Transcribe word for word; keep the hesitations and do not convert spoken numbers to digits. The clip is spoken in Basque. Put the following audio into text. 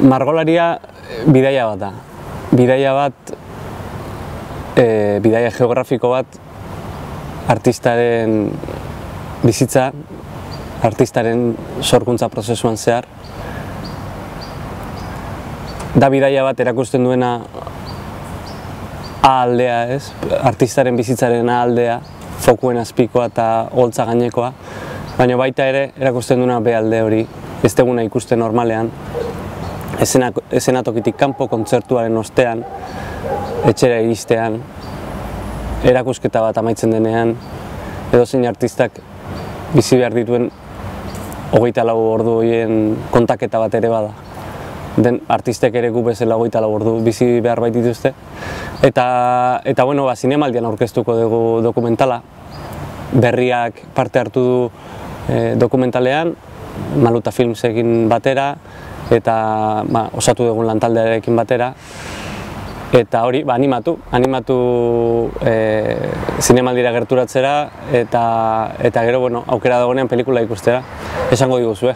Margolaria bidaia bat da. Bidaia bat, e, bidaia geografiko bat, artistaren bizitza, artistaren sorkuntza prozesuan zehar. Da bidaia bat erakusten duena A-aldea, ez? Artistaren bizitzaren A-aldea, fokuen azpikoa eta holtza gainekoa, baina baita ere erakusten duena B-alde hori, ez deguna ikusten normalean, eszenatokitik kanpo, kontzertuaren ostean, etxera iristean, erakusketa bat amaitzen denean, edozein artistak bizi behar dituen hogeita lau ordu horien kontaketa bat ere bada. Den artistek ere gu bezala hogeita lau ordu bizi behar bait dituzte. Eta, eta bueno, ba, zinemaldian aurkeztuko dugu dokumentala. Berriak parte hartu du e, dokumentalean, Maluta Filmsekin batera, eta ba, osatu dugun lantaldearekin batera. Eta hori, ba, animatu, animatu e, zinemaldira gerturatzera, eta, eta gero, bueno, aukera dagoenean pelikula ikustera, esango diguzue.